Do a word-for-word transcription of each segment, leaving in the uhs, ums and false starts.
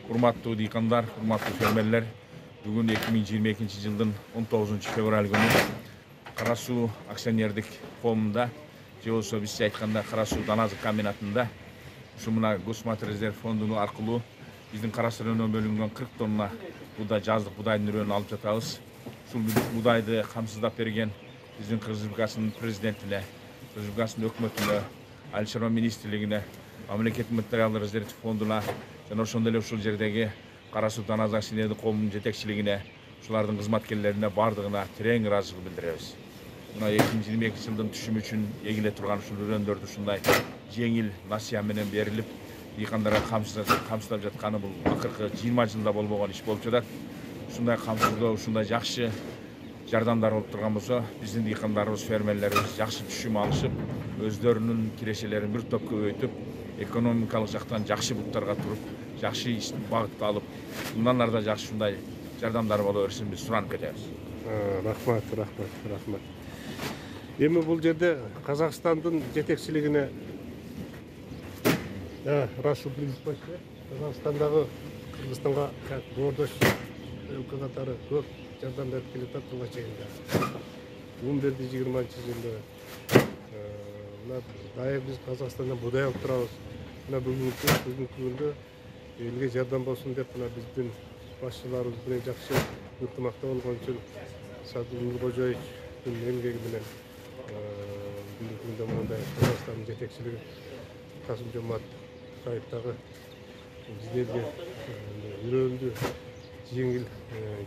Урматтуу дыйкандар, урматтуу фермерлер, бүгүн эки миң жыйырма экинчи жылдын он тогузунчу февраль күнү Кара Суу акционердик коомунда, же болбосо бизче айтканда Кара Суу дана азык комбинатында ушу мына Госсматрезерв фонду аркылуу биздин Кара Суу районунан бөлүнгөн кырк тонна буудай, жаздык буудайдын үрөөнүн алып жатабыз. Ушул буудайды камсыздап берген биздин Кыргыз Республикасынын президентине, Кыргыз Республикасынын өкмөтүнө, Айыл чарба министрлигине, мамлекеттик материалдык резервдик фондуна жана ошондой эле ушул жердеги Кара Суу дана азык акционердик коомунун жетекчилигине, ушулардын кызматкерлерине баардыгына терең ыраазычылык билдиребиз. Мына эки миң жыйырма экинчи жылдын түшүмү үчүн эгиле турган ушул үрөөндөрдү ушундай жеңил насыя менен берилип, дыйкандарга камсыздап жатканы бул акыркы жыйырма жылда болбогон иш болуп жатат. Ушундай камсыздоо, ушундай жакшы жардамдар болуп турган болсо, биздин дыйкандарыбыз, фермерлерибиз жакшы түшүм алышып, өздөрүнүн кирешелерин бир топ көбөйтүп, экономикалык жактан жакшы буктарга туруп, жакшы багытты алып, мындан ары да жакшы ушундай жардамдар боло берсин биз суранып кетебиз. Рахмат, рахмат, рахмат. Эми бул жерде Казакстандын жетекчилигине Расул Принциповичке, Казакстандагы Кыргызстанга боордош өлкө катары көп жардам берип келатат буга чейин. он бирди жыйырманчы жылы мына дайыр биз Казакстандан буудай алып турабыз. Мына бүгүнкү бүгүнкү күндө элге жардам болсун деп мына биздин башчыларыбыз менен жакшы ынтымакта болгон үчүн Садыр Нуркожоевичтин эмгеги менен бүгүнкү күндө мындай Казакстандын жетекчилиги Касым Жомарт Токаев дагы биздерге үрөөндү жеңил,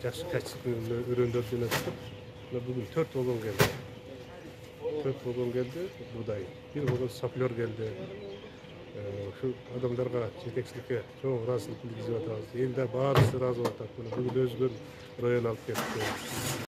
жакшы качественно үрөөндөрдү өнөтүп, мына бүгүн төрт вагон келди. төрт вагон келди буудай, бир вагон саплер келди. Ушу адамдарга жетекчиликке чоң ыраазычылык билдирип атабыз. Элде баарысы ыраазы болуп атат. Бүгүн өзгөн район алып кетти.